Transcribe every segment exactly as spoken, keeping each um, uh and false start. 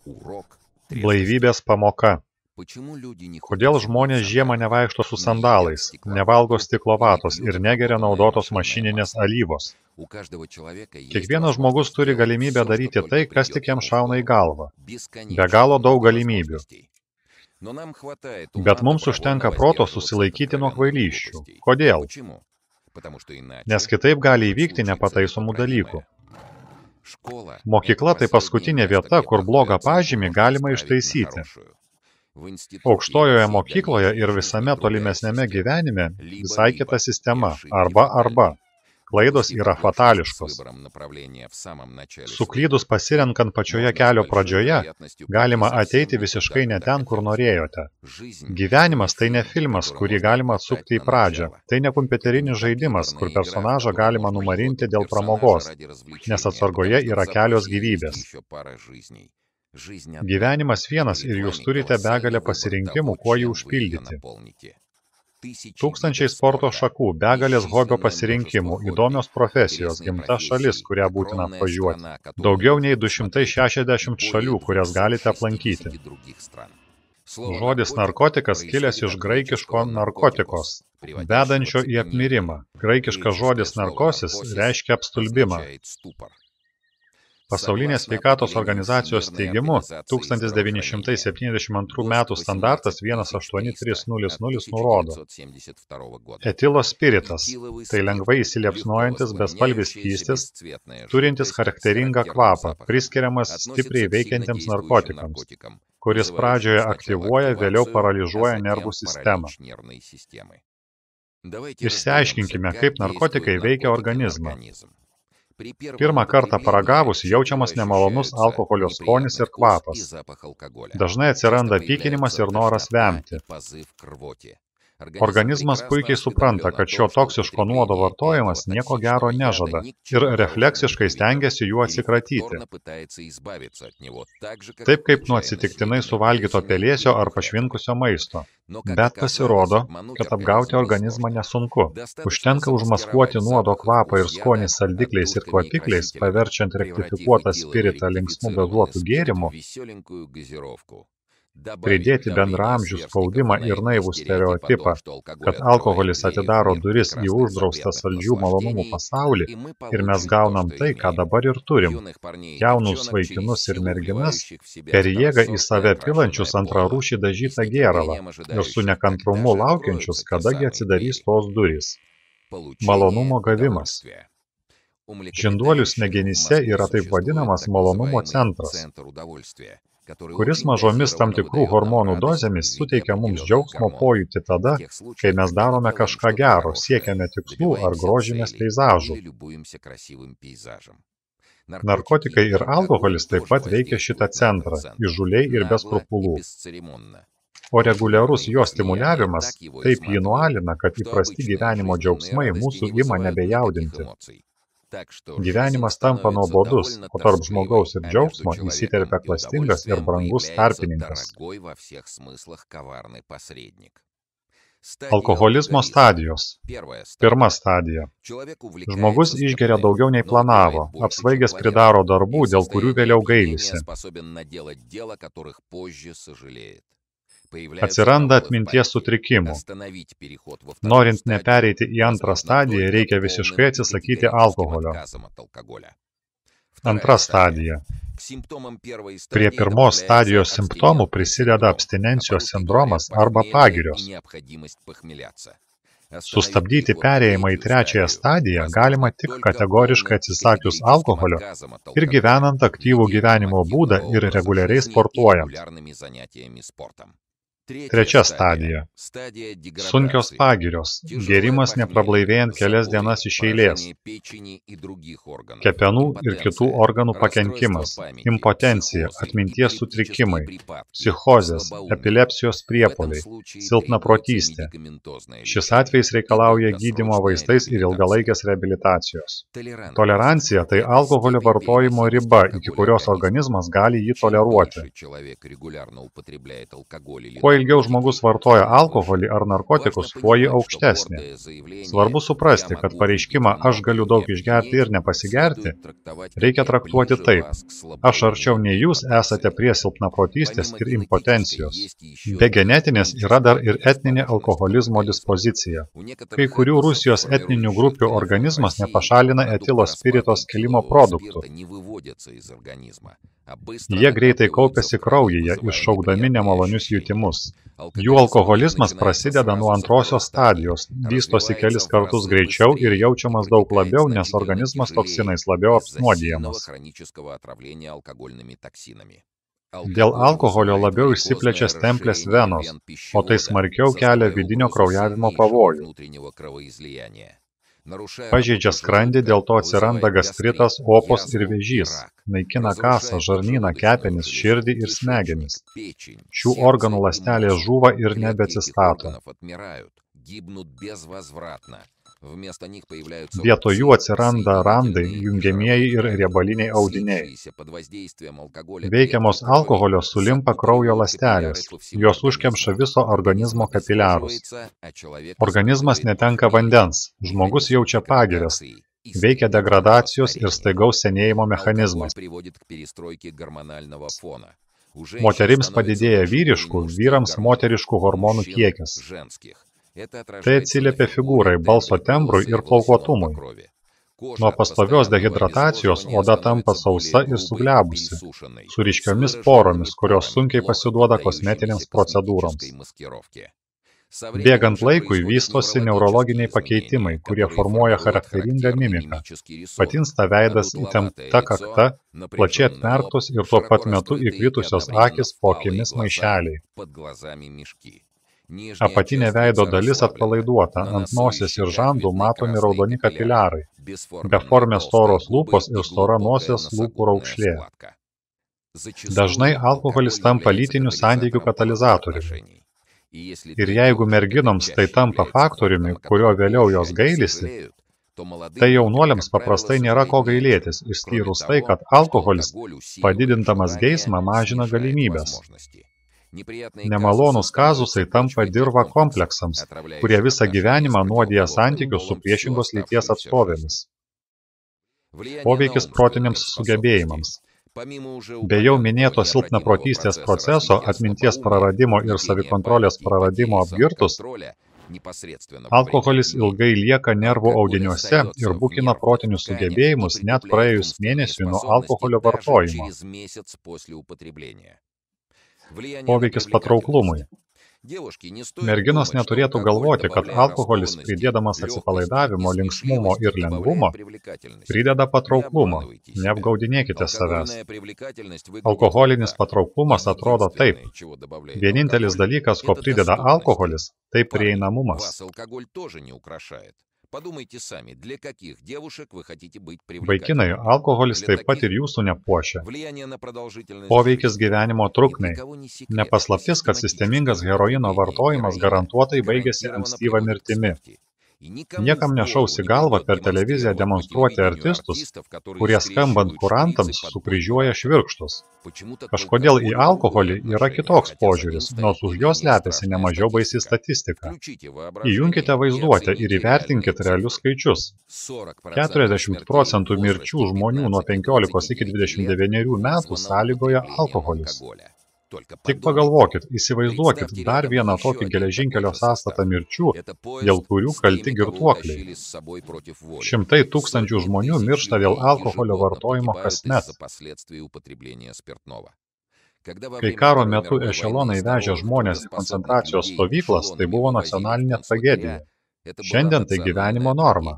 Blaivybės pamoka. Kodėl žmonės žiemą nevaikšto su sandalais, nevalgo stiklo vatos ir negeria naudotos mašininės alyvos? Kiekvienas žmogus turi galimybę daryti tai, kas tik jam šauna į galvą. Be galo daug galimybių. Bet mums užtenka proto susilaikyti nuo kvailysčių. Kodėl? Nes kitaip gali įvykti nepataisomų dalykų. Mokykla tai paskutinė vieta, kur blogą pažymį galima ištaisyti. Aukštojoje mokykloje ir visame tolimesnėme gyvenime visai kita sistema – arba arba. Klaidos yra fatališkos. Suklydus pasirenkant pačioje kelio pradžioje, galima ateiti visiškai ne ten, kur norėjote. Gyvenimas tai ne filmas, kurį galima atsukti į pradžią. Tai ne kompiuterinis žaidimas, kur personažą galima numarinti dėl pramogos, nes atsargoje yra kelios gyvybės. Gyvenimas vienas ir jūs turite begalę pasirinkimų, kuo jį užpildyti. Tūkstančiai sporto šakų, begalės hobio pasirinkimų, įdomios profesijos, gimta šalis, kurią būtina apvažiuoti. Daugiau nei du šimtai šešiasdešimt šalių, kurias galite aplankyti. Žodis narkotikas kilęs iš graikiško narkotikos, vedančio į apmirimą. Graikiškas žodis narkosis reiškia apstulbimą. Pasaulinės sveikatos organizacijos teigimu, tūkstantis devyni šimtai septyniasdešimt antrų metų standartas vienas aštuoni trys nulis nulis nurodo. Etilo spiritas – tai lengvai įsiliepsnojantis bespalvis skystis, turintis charakteringą kvapą, priskiriamas stipriai veikiantiems narkotikams, kuris pradžioje aktyvuoja, vėliau paralyžuoja nervų sistemą. Išsiaiškinkime, kaip narkotikai veikia organizmą. Pirmą kartą paragavus jaučiamas nemalonus alkoholio skonis ir kvapas. Dažnai atsiranda pykinimas ir noras vemti. Organizmas puikiai supranta, kad šio toksiško nuodo vartojimas nieko gero nežada ir refleksiškai stengiasi juo atsikratyti. Taip kaip nuo atsitiktinai suvalgyto pelėsio ar pašvinkusio maisto. Bet pasirodo, kad apgauti organizmą nesunku. Užtenka užmaskuoti nuodo kvapą ir skonį saldikliais ir kvapikliais, paverčiant rektifikuotą spiritą linksmų gazuotų gėrimų, pridėti bendraamžių spaudimą ir naivų stereotipą, kad alkoholis atidaro duris į uždraustą saldžių malonumų pasaulį ir mes gaunam tai, ką dabar ir turim. Jaunus vaikinus ir merginas, per jėgą į save pilančius antrarūšį dažytą gėralą ir su nekantrumu laukiančius, kadagi atsidarys tos durys. Malonumo gavimas. Žinduolių smegenyse yra taip vadinamas malonumo centras, kuris mažomis tam tikrų hormonų dozėmis suteikia mums džiaugsmo pojūtį tada, kai mes darome kažką gero, siekiame tikslų ar grožimės peizažų. Narkotikai ir alkoholis taip pat veikia šitą centrą, įžūliai ir be skrupulų. O reguliarus jo stimuliavimas taip jį nualina, kad įprasti gyvenimo džiaugsmai mūsų ima nebejaudinti. Gyvenimas tampa nuobodus, o tarp žmogaus ir džiaugsmo įsiterpia klastingas ir brangus tarpininkas. Alkoholizmo stadijos. Pirma stadija. Žmogus išgeria daugiau nei planavo, apsvaigęs pridaro darbų, dėl kurių vėliau gailisi. Atsiranda atminties sutrikimų. Norint nepereiti į antrą stadiją, reikia visiškai atsisakyti alkoholio. Antra stadija. Prie pirmos stadijos simptomų prisideda abstinencijos sindromas arba pagirios. Sustabdyti perėjimą į trečiąją stadiją galima tik kategoriškai atsisakius alkoholio ir gyvenant aktyvų gyvenimo būdą ir reguliariai sportuojant. Trečia stadija. Sunkios pagirios. Gėrimas neprablaivėjant kelias dienas iš eilės. Kepenų ir kitų organų pakenkimas. Impotencija, atminties sutrikimai, psichozės, epilepsijos priepuoliai, silpnaprotystė. Šis atvejis reikalauja gydymo vaistais ir ilgalaikės reabilitacijos. Tolerancija tai alkoholio vartojimo riba, iki kurios organizmas gali jį toleruoti. Kuo ilgiau žmogus vartoja alkoholį ar narkotikus, tuo ji aukštesnė. Svarbu suprasti, kad pareiškimą aš galiu daug išgerti ir nepasigerti reikia traktuoti taip. Aš arčiau nei jūs esate prie silpnaprotystės ir impotencijos. Be genetinės yra dar ir etninė alkoholizmo dispozicija. Kai kurių Rusijos etninių grupių organizmas nepašalina etilo spirito skilimo produktų. Jie greitai kaupiasi kraujyje, iššaukdami nemalonius jutimus. Jų alkoholizmas prasideda nuo antrosios stadijos, vystosi kelis kartus greičiau ir jaučiamas daug labiau, nes organizmas toksinais labiau apnuodijamas. Dėl alkoholio labiau išsiplečia stemplės venos, o tai smarkiau kelia vidinio kraujavimo pavojų. Pažeidžia skrandį, dėl to atsiranda gastritas, opos ir vėžys. Naikina kasą, žarnyną, kepenis, širdį ir smegenis. Šių organų ląstelės žūva ir nebeatsistato. Vietoj jų atsiranda randai, jungiamieji ir riebaliniai audiniai. Veikiamos alkoholio sulimpa kraujo ląstelės, jos užkemša viso organizmo kapiliarus. Organizmas netenka vandens, žmogus jaučia pagirias, veikia degradacijos ir staigaus senėjimo mechanizmas. Moterims padidėja vyriškų, vyrams moteriškų hormonų kiekis. Tai atsiliepia figūrai, balso tembrui ir plaukuotumui. Nuo pastovios dehidratacijos oda tampa sausa ir suglebusi, su ryškiomis poromis, kurios sunkiai pasiduoda kosmetinėms procedūroms. Bėgant laikui vystosi neurologiniai pakeitimai, kurie formuoja charakteringą mimiką. Patinsta veidas, įtempta kakta, plačiai atmerktos ir tuo pat metu įkritusios akys po akimis maišeliai. Apatinė veido dalis atpalaiduota, ant nosies ir žandų matomi raudoni kapiliarai, beformės storos lūpos ir stora nosies lūpų raukšlė. Dažnai alkoholis tampa lytinių santykių katalizatoriumi. Ir jeigu merginoms tai tampa faktoriumi, kurio vėliau jos gailisi, tai jaunuoliams paprastai nėra ko gailėtis, išskyrus tai, kad alkoholis, padidindamas geismą, mažina galimybės. Nemalonūs kazusai tampa dirva kompleksams, kurie visą gyvenimą nuodija santykius su priešingos lyties atstovėmis. Poveikis protiniams sugebėjimams. Be jau minėto silpnaprotystės proceso, atminties praradimo ir savikontrolės praradimo apgirtus, alkoholis ilgai lieka nervų audiniuose ir bukina protinius sugebėjimus net praėjus mėnesiui nuo alkoholio vartojimo. Poveikis patrauklumui. Merginos neturėtų galvoti, kad alkoholis, pridėdamas atsipalaidavimo, linksmumo ir lengvumo, prideda patrauklumo. Neapgaudinėkite savęs. Alkoholinis patrauklumas atrodo taip. Vienintelis dalykas, ko prideda alkoholis, tai prieinamumas. Vaikinai, alkoholis taip pat ir jūsų nepuošia. Poveikis gyvenimo trukmei. Nepaslaptis, kad sistemingas heroino vartojimas garantuotai baigėsi ankstyva mirtimi. Niekam nešausi galvą per televiziją demonstruoti artistus, kurie skambant kurantams sukryžiuoja švirkštus. Kažkodėl į alkoholį yra kitoks požiūris, nors už jos slepiasi nemažiau baisi statistika. Įjunkite vaizduotę ir įvertinkite realius skaičius. keturiasdešimt procentų mirčių žmonių nuo penkiolikos iki dvidešimt devynerių metų sąlygoja alkoholis. Tik pagalvokit, įsivaizduokit dar vieną tokį geležinkelio sąstatą mirčių, dėl kurių kalti girtuokliai. Šimtai tūkstančių žmonių miršta dėl alkoholio vartojimo kasmet. Kai karo metu ešelonai vežė žmonės į koncentracijos stovyklas, tai buvo nacionalinė tragedija. Šiandien tai gyvenimo norma.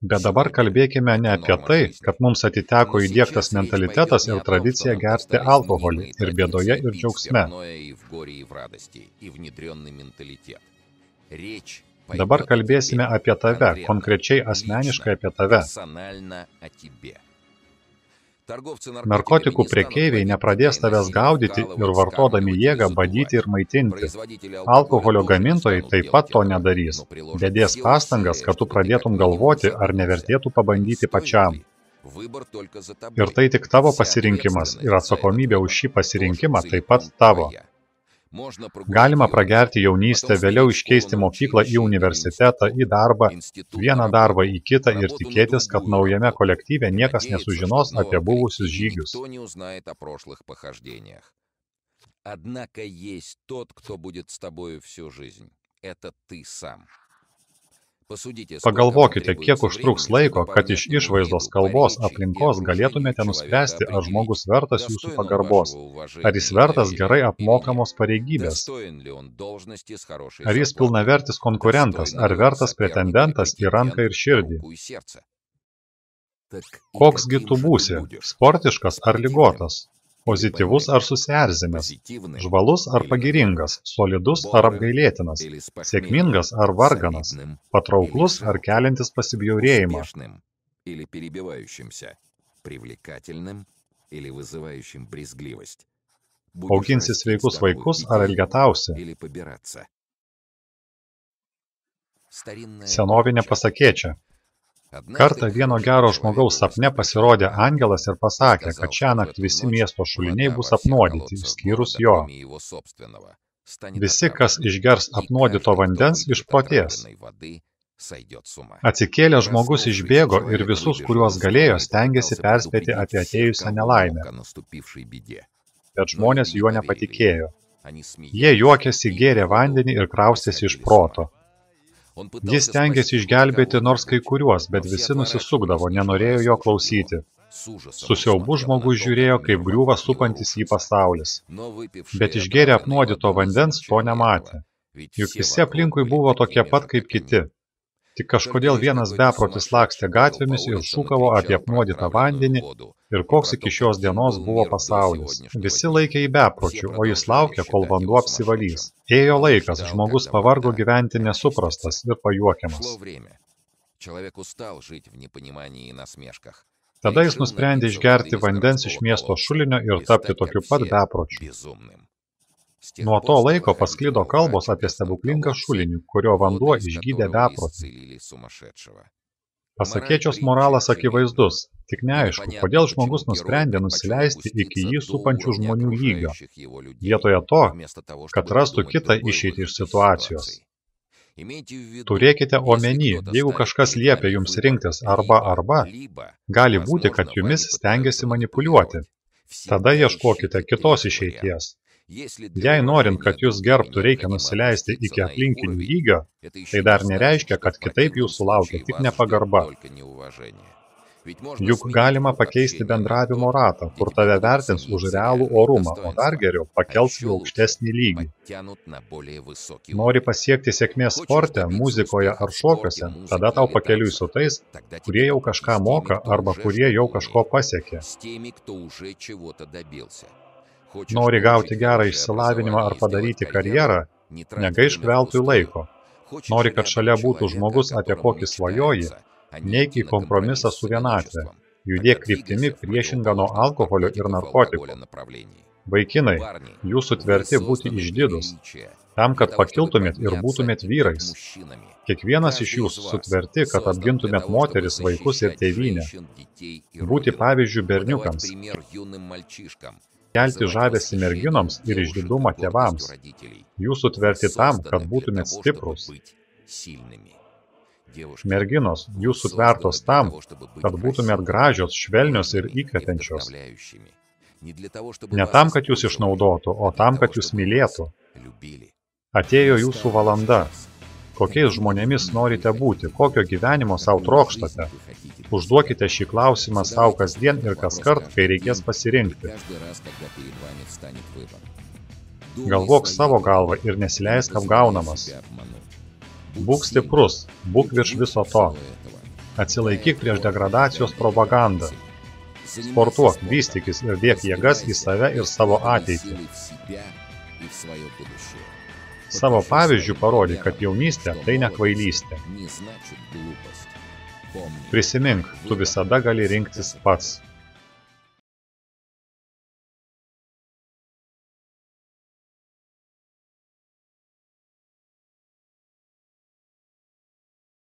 Bet dabar kalbėkime ne apie tai, kad mums atiteko įdiegtas mentalitetas ir tradicija gerti alkoholį ir bėdoje ir džiaugsme. Dabar kalbėsime apie tave, konkrečiai asmeniškai apie tave. Narkotikų prekeiviai nepradės tavęs gaudyti ir vartodami jėgą badyti ir maitinti. Alkoholio gamintojai taip pat to nedarys. Dedės pastangas, kad tu pradėtum galvoti, ar nevertėtų pabandyti pačiam. Ir tai tik tavo pasirinkimas ir atsakomybė už šį pasirinkimą taip pat tavo. Galima pragerti jaunystę, vėliau iškeisti mokyklą į universitetą, į darbą, vieną darbą į kitą ir tikėtis, kad naujame kolektyve niekas nesužinos apie buvusius žygius. Однако есть тот, кто будет с тобою всю жизнь. Это ты сам. Pagalvokite, kiek užtruks laiko, kad iš išvaizdos, kalbos, aplinkos galėtumėte nuspręsti, ar žmogus vertas jūsų pagarbos, ar jis vertas gerai apmokamos pareigybės, ar jis pilnavertis konkurentas, ar vertas pretendentas į ranką ir širdį. Koksgi tu būsi, sportiškas ar ligotas? Pozityvus ar susierzinęs, žvalus ar pagiringas, solidus ar apgailėtinas, sėkmingas ar varganas, patrauklus ar keliantis pasibjaurėjimą. Auginsi sveikus vaikus ar elgetausi? Senovinė pasakėčia. Kartą vieno gero žmogaus sapne pasirodė angelas ir pasakė, kad šiąnakt visi miesto šuliniai bus apnuodyti, išskyrus jo. Visi, kas išgers apnuodito vandens, išprotės. Atsikėlęs žmogus išbėgo ir visus, kuriuos galėjo, stengėsi perspėti apie atėjusią nelaimę. Bet žmonės juo nepatikėjo. Jie juokėsi, gėrė vandenį ir kraustėsi iš proto. Jis stengiasi išgelbėti nors kai kuriuos, bet visi nusisukdavo, nenorėjo jo klausyti. Su siaubu žmogus žiūrėjo, kaip griūva supantis jį pasaulis. Bet išgėrė apnuodito vandens to nematė. Juk visi aplinkui buvo tokie pat kaip kiti. Tik kažkodėl vienas beprotis lakstė gatvėmis ir šūkavo apie apnuodytą vandenį ir koks iki šios dienos buvo pasaulis. Visi laikė į bepročių, o jis laukė, kol vanduo apsivalys. Ėjo laikas, žmogus pavargo gyventi nesuprastas ir pajuokiamas. Tada jis nusprendė išgerti vandens iš miesto šulinio ir tapti tokiu pat bepročiu. Nuo to laiko pasklido kalbos apie stebuklingą šulinį, kurio vanduo išgydė beprotį. Pasakėčios moralas akivaizdus, tik neaišku, kodėl žmogus nusprendė nusileisti iki jį supančių žmonių lygio, vietoje to, kad rastų kitą išeitį iš situacijos. Turėkite omeny, jeigu kažkas liepia jums rinktis arba arba, gali būti, kad jumis stengiasi manipuliuoti. Tada ieškokite kitos išeities. Jei norint, kad jūs gerbtų, reikia nusileisti iki aplinkinių lygio, tai dar nereiškia, kad kitaip jūsų laukia tik nepagarba. Juk galima pakeisti bendravimo ratą, kur tave vertins už realų orumą, o dar geriau pakels į aukštesnį lygį. Nori pasiekti sėkmės sporte, muzikoje ar šokiuose, tada tau pakeliui su tais, kurie jau kažką moka arba kurie jau kažko pasiekė. Nori gauti gerą išsilavinimą ar padaryti karjerą, negaišk veltui laiko. Nori, kad šalia būtų žmogus, apie kokį svajoji, neik į kompromisą su vienatve. Judėk kryptimi priešingą nuo alkoholio ir narkotikų. Vaikinai, jūs sutverti būti išdidus, tam, kad pakiltumėt ir būtumėt vyrais. Kiekvienas iš jūsų sutverti, kad apgintumėt moteris, vaikus ir tėvynę. Būti pavyzdžių berniukams. Kelti žavesį merginoms ir išdidumą tėvams. Jūs sutverti tam, kad būtumėt stiprus. Merginos, jūs sutvertos tam, kad būtumėt gražios, švelnios ir įkvepiančios. Ne tam, kad jūs išnaudotų, o tam, kad jūs mylėtų. Atėjo jūsų valanda. Kokiais žmonėmis norite būti, kokio gyvenimo savo trokštate? Užduokite šį klausimą savo kasdien ir kaskart, kai reikės pasirinkti. Galvok savo galvą ir nesileisk apgaunamas. Būk stiprus, būk virš viso to. Atsilaikyk prieš degradacijos propagandą. Sportuok, vystykis ir dėk jėgas į save ir savo ateitį. Savo pavyzdžių parodyk, kad jaunystė tai ne kvailystė. Prisimink, tu visada gali rinktis pats.